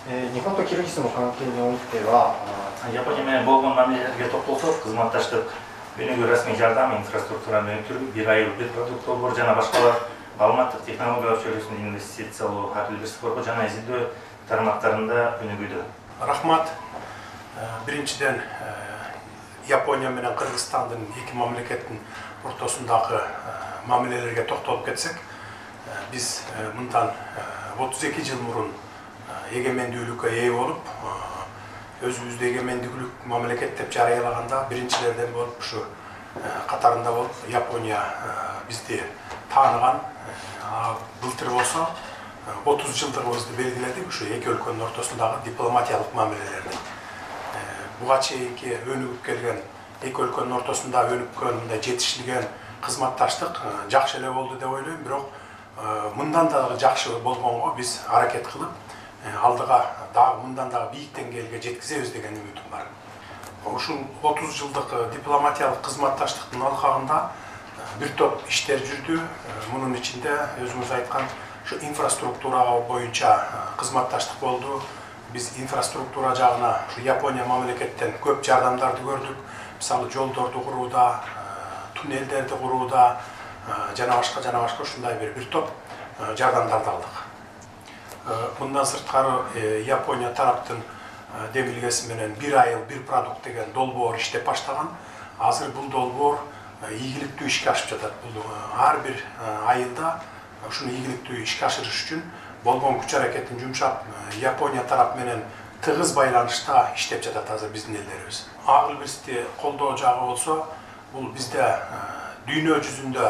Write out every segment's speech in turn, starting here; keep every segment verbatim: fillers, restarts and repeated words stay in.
日本とキルギスの関係においては、Япония менен болгон мамилелерге токтолсок, кызматташтык, өнүгүү, расмий жардам, инфраструктураны өтүрүү, бир айыл, бир продукт долбоор жана башкалар, маалыматтык технологиялар чөйрөсүндө инвестициялоо, ар бир спорго жана изилдөө тармактарында өнүгүүдө. Рахмат. Биринчиден, Япония менен Кыргызстандын эки мамлекеттин ортосундагы мамилелерге токтолуп кетсек, биз мындан отуз эки жыл мурун эгемендүүлүккө ээ болуп, өзүбүздү эгемендүүлүк мамлекет деп жарыялаганда биринчилерден болуп, ушу катарында болуп, Япония бизди тааныган. Былтыр болсо отуз жылдыгыбызды белгиледик ушу эки өлкөнүн ортосундагы дипломатиялык мамилелерди. Буга чейинки өнүгүп келген эки өлкөнүн ортосунда өнүккөн, мындай жетишилген кызматташтык жакшы эле болду деп ойлойм, бирок мындан дагы жакшы болгонго биз аракет кылып, алдыга дагы мындан дагы бийик деңгээлге жеткизебиз деген үмүтүм бар. Ушул отуз жылдык дипломатиялык кызматташтыктын алкагында бир топ иштер жүрдү. Мунун ичинде өзүңүз айткан ушу инфраструктура боюнча кызматташтык болду. Биз инфраструктура жагына ушу Япония мамлекеттен көп жардамдарды көрдүк. Мисалы, жолдорду курууда, туннелдерди курууда жана башка жана башка ушундай бир бир топ жардамдарды алдык. Мындан сырткары Япония тараптын демилгеси менен бир айыл, бир продукт деген долбоор иштеп баштаган. Азыр бул долбоор ийгиликтүү ишке ашып жатат. Бул ар бир айылда ушуну ийгиликтүү ишке ашырыш үчүн болгон күч аракетин жумшап, Япония тарап менен тыгыз байланышта иштеп жатат азыр биздин элдерибиз. Ак илбирсти колдоо жагы болсо, бул бизде дүйнө жүзүндө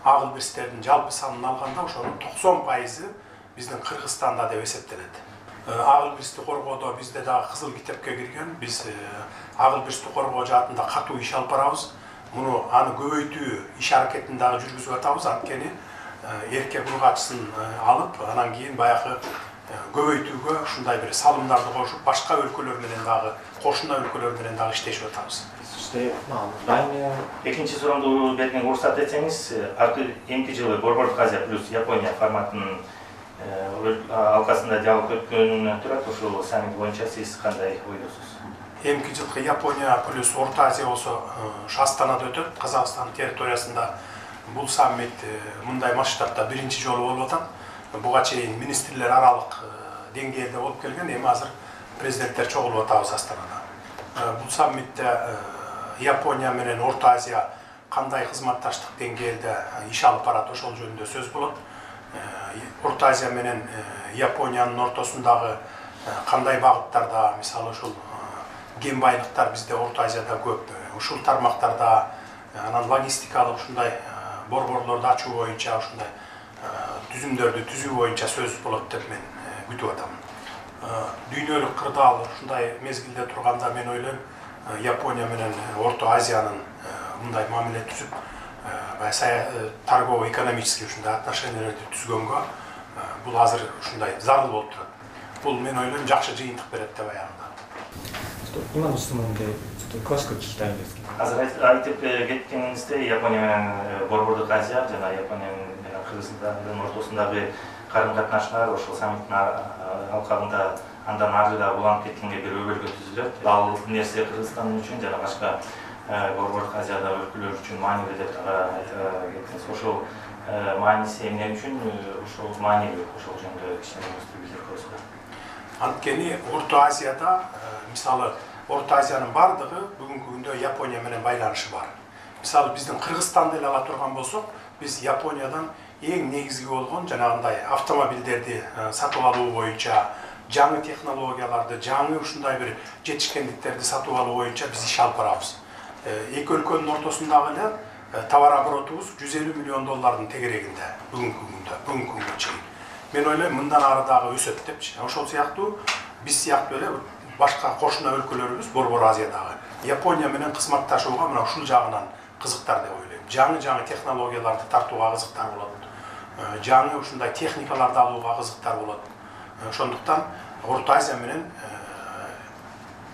ак илбирстердин жалпы санын алганда ошонун токсон пайызы биздин Кыргызстанда деп эсептелет. Ак илбирсти коргоодо бизде дагы кызыл китепке кирген. Биз ак илбирсти коргоо жаатында катуу иш алып барабыз. Муну аны көбөйтүү иш аракетин дагы жүргүзүп атабыз. Анткени эркек ургачысын алып, анан кийин баягы көбөйтүүгө ушундай бир салымдарды кошуп, башка өлкөлөр менен дагы, кошуна өлкөлөр менен дагы иштешип атабыз. Экинчи суроомду берген уруксат этсеңиз, эмки жылы Борбордук Азия плюс Япония форматынын алкасында диалог өткөнүнөн турат. Ушул саммит боюнча сиз кандай ойлойсуз? Эмки жылкы Япония плюс Орто Азия болсо ушу Астанада өтөт, Казакстан территориясында. Бул саммит мындай масштабта биринчи жолу болуп атат. Буга чейин министрлер аралык деңгээлде болуп келген, эми азыр президенттер чогулуп атабыз Астанада. Бул саммитте Япония менен Орто Азия кандай кызматташтык деңгээлде иш алып барат, ошол жөнүндө сөз болот. Орто Азия менен Япониянын ортосундагы кандай багыттарда, мисалы ушул кен байлыктар бизде Орто Азияда көп, ушул тармактарда, анан логистикалык ушундай борборлорду ачуу боюнча, ушундай түзүмдөрдү түзүү боюнча сөз болот деп мен күтүп атам. Дүйнөлүк кырдаал ушундай мезгилде турганда мен ойлойм, Япония менен Орто Азиянын мындай мамиле түзүп, торгово-экономический ушундай отношенияларды түзгөнгө бул азыр ушундай зарыл болуп турат. Бул мен ойлойм жакшы жыйынтык берет деп аягында. 今の質問でちょっと詳しく聞きたいんですけど。Азыр айтып кеткениңизде, Япония менен Борбордук Азия жана Япония менен Кыргызстандын ортосундагы карым-катнашлар ошол саммиттин алкагында андан ары да уланып кеткенге бир өбөлгө түзүлөт. Ал нерсе Кыргызстан үчүн жана башка Борбордук Азияда өлкөлөр үчүн маанилүү деп кеттиңиз. Ошол мааниси эмне үчүн ошол маанилүү, ошол жөнүндө кичине билдирип коесуздар. Анткени Орто Азияда, мисалы, Орто Азиянын бардыгы бүгүнкү күндө Япония менен байланышы бар. Мисалы, биздин Кыргызстанды эле ала турган болсок, биз Япониядан эң негизги болгон жанагындай автомобилдерди сатып алуу боюнча, жаңы технологияларды, жаңы ушундай бир жетишкендиктерди сатып алуу боюнча биз иш алып барабыз. Эки өлкөнүн ортосундагы эле товар оборотубуз жүз элүү миллион доллардын тегерегинде бүгүнкү күндө, бүгүнкү күнгө чейин. Мен ойлойм, мындан ары дагы өсөт депчи. Ошол сыяктуу биз сыяктуу эле башка кошуна өлкөлөрүбүз Борбор Азиядагы Япония менен кызматташууга мына ушул жагынан кызыктар деп ойлойм. Жаңы-жаңы технологияларды тартууга кызыктар болот. Жаңы ушундай техникаларды алууга кызыктар болот. Ошондуктан Орто Азия менен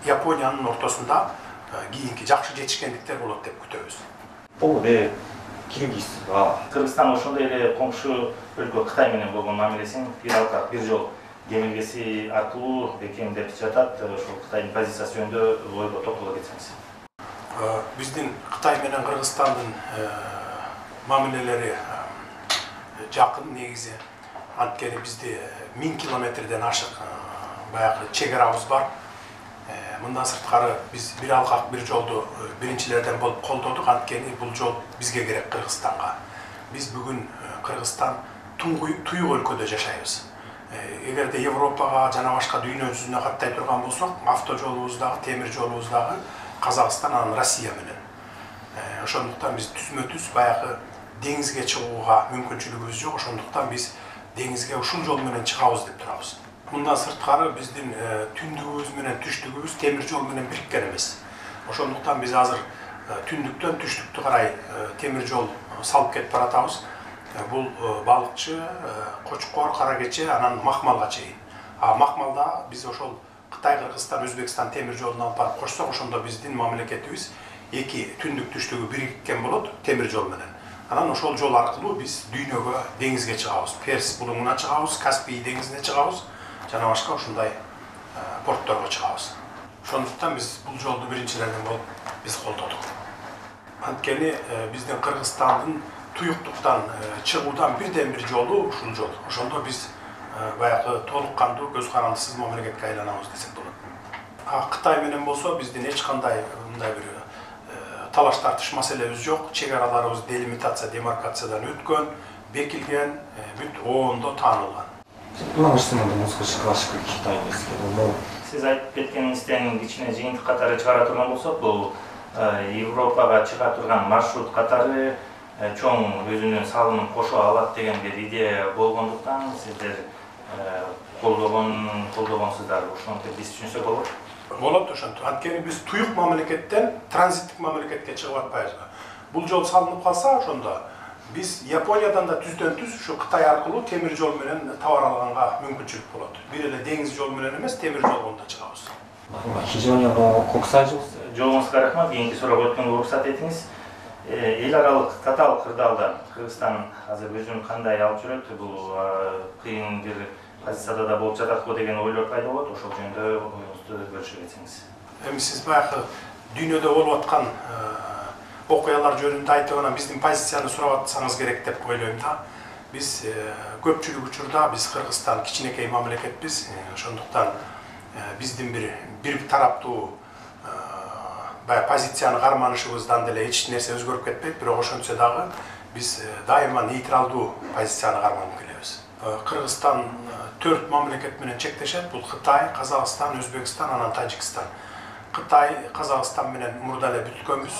Япониянын ортосунда кийинки жакшы жетишкендиктер болот деп күтөбүз. Бул де Киргиз ва Кыргызстан ошондой эле коңшу өлкө Кытай менен болгон мамилесин бир алкак, бир жол кемелгеси аркылуу экен деп жатат. Ошол Кытайдын позициясы жөнүндө ойго токтоло кетсеңиз. Биздин Кытай менен Кыргызстандын мамилелери жакын негизи. Анткени бизде миң километрден ашык баягы чек-арабыз бар. Мындан сырткары биз бир алкак бир жолду биринчилерден болуп колдодук. Анткени бул жол бизге керек, Кыргызстанга. Биз бүгүн Кыргызстан туйук өлкөдө жашайбыз. Эгерде Европага жана башка дүйнө жүзүнө каттай турган болсок, автожолубуз дагы, темир жолубуз дагы Казакстан, анан Россия менен. Ошондуктан биз түзмө-түз баягы деңизге чыгууга мүмкүнчүлүгүбүз жок. Ошондуктан биз деңизге ушул жол менен чыгабыз деп турабыз. Мындан сырткары биздин түндүгүбүз менен түштүгүбүз темир жол менен бириккен эмес. Ошондуктан биз азыр түндүктөн түштүктү карай темир жол салып кетип баратабыз. Бул балыкчы, Кочкор, Каракече, анан Макмалга чейин. А Макмалда биз ошол Кытай, Кыргызстан, Өзбекстан темир жолун алып барып кошсок, ошондо биздин мамлекетибиз эки түндүк түштүгү бириккен болот темир жол менен. Анан ошол жол аркылуу биз дүйнөгө, деңизге чыгабыз. Перс булуңуна чыгабыз, Каспий деңизине чыгабыз, жана башка ушундай портторго чыгабыз. Ошондуктан биз бул жолду биринчилерден болуп биз колдодук. Анткени биздин Кыргызстандын туюктуктан чыгуудан бирден бир жолу ушул жол. Ошондо биз баягы толук кандуу, көз карандысыз мамлекетке айланабыз десек болот. А Кытай менен болсо биздин эч кандай мындай бир талаш тартыш маселебиз жок. Чек араларыбыз делимитация, демаркациядан өткөн, бекилген, бүт оондо таанылган. Сиз айтып кеткениңизден кичине жыйынтык катары чыгара турган болсок, бул Европага чыга турган маршрут катары чоң өзүнүн салымын кошо алат деген бир идея болгондуктан сиздер колдогон колдогонсуздар. Ошондо биз түшүнсөк болот. Болот ошентип. Анткени биз туюк мамлекеттен транзиттик мамлекетке чыгып атпайбызбы. Бул жол салынып калса, ошондо биз Япониядан да түздөн түз ушу Кытай аркылуу темир жол менен товар алганга мүмкүнчүлүк болот. Бир эле деңиз жол менен эмес, темир жолдон да чыгабыз. Жоогуңузга рахмат. Кийинки суроого өткөнгө уруксат этиңиз. Эл аралык татаал кырдаалда Кыргызстан азыр өзүн кандай алып жүрөт? Бул кыйын бир позицияда да болуп жатат го деген ойлор пайда болот. Ошол жөнүндө оюңузду бөлүшүп кетсеңиз. Эми сиз баягы дүйнөдө болуп аткан окуялар жөнүндө айтып анан биздин позицияны сурап атсаңыз керек деп ойлойм да. Биз көпчүлүк учурда биз Кыргызстан кичинекей мамлекетпиз. Ошондуктан биздин бир бир тараптуу баягы позицияны карманышыбыздан деле эч нерсе өзгөрүп кетпейт, бирок ошентсе дагы биз дайыма нейтралдуу позицияны карманып келебиз. Кыргызстан төрт мамлекет менен чектешет. Бул Кытай, Казакстан, Өзбекстан, анан Тажикстан. Кытай, Казакстан менен мурда эле бүткөнбүз.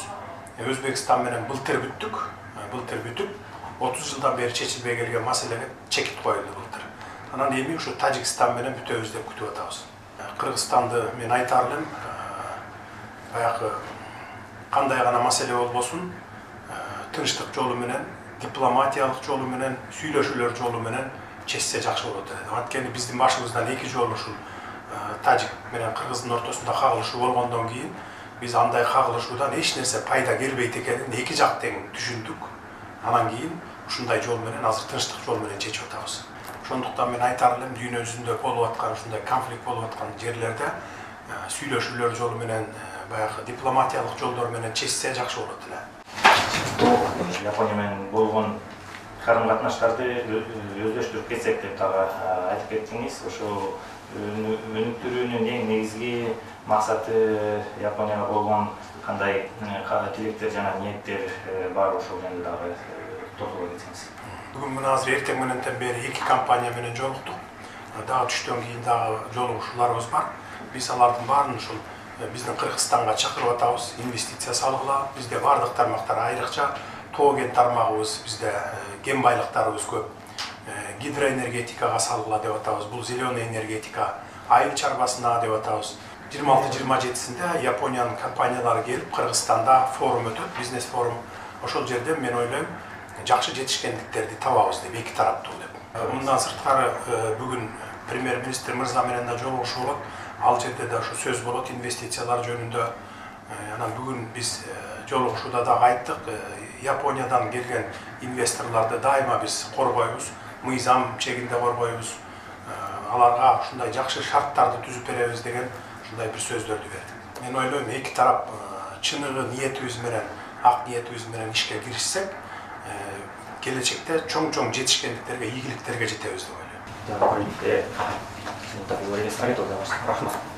Өзбекстан менен былтыр бүттүк. Былтыр бүтүп, отуз жылдан бери чечилбей келген маселеге чекит коюлду былтыр. Анан эми ушу Тажикстан менен бүтөбүз деп күтүп атабыз. Кыргызстанды мен айтар элем, баягы кандай гана маселе болбосун, тынчтык жолу менен, дипломатиялык жолу менен, сүйлөшүүлөр жолу менен чечсе жакшы болот. Анткени биздин башыбыздан эки жолу ушул Тажик менен Кыргыздын ортосунда кагылышуу болгондон кийин биз андай кагылышуудан эч нерсе пайда келбейт экенин эки жак тең түшүндүк. Анан кийин ушундай жол менен, азыр тынчтык жол менен чечип атабыз. Ошондуктан мен айтар элем, дүйнө жүзүндө болуп аткан ушундай конфликт болуп аткан жерлерде сүйлөшүүлөр жолу менен, баягы дипломатиялык жолдор менен чечсе жакшы болот эле. Япония менен болгон карым-катнаштарды өздөштүрүп кетсек деп дагы айтып кеттиңиз. Ошо өнүктүрүүнүн эң негизги максаты Японияга болгон кандай тилектер жана ниеттер бар, ошол жөнүндө дагы токтоло кетсеңиз. Бүгүн мына азыр эртең мененден бери эки компания менен жолуктук. Дагы түштөн кийин дагы жолугушууларыбыз бар. Биз алардын баарын ушул биздин Кыргызстанга чакырып атабыз, инвестиция салгыла. Бизде бардык тармактар айрыкча, тоо кен тармагыбыз, бизде кен байлыктарыбыз көп. Гидроэнергетикага салгыла деп атабыз. Бул зеленый энергетика, айыл чарбасына деп атабыз. жыйырма алты жыйырма жетисинде Япониянын компаниялары келип Кыргызстанда форум өтөт, бизнес форум. Ошол жерде мен ойлойм, жакшы жетишкендиктерди табабыз деп, эки тараптуу деп. Мындан сырткары бүгүн премьер-министр мырза менен да жолугушуу болот. Ал жерде да ошо сөз болот инвестициялар жөнүндө. Анан бүгүн биз жолугушууда дагы айттык, Япониядан келген инвесторлорду дайыма биз коргойбуз, мыйзам чегинде коргойбуз. аларга ушундай жакшы шарттарды түзүп беребиз деген ушундай бир сөздөрдү берди. Мен ойлойм, эки тарап чыныгы ниетибиз менен, ак ниетибиз менен ишке киришсек, келечекте чоң-чоң жетишкендиктерге, ийгиликтерге жетебиз деп ойлойм.じゃあこれで、インタビュー終わりです。ありがとうございました。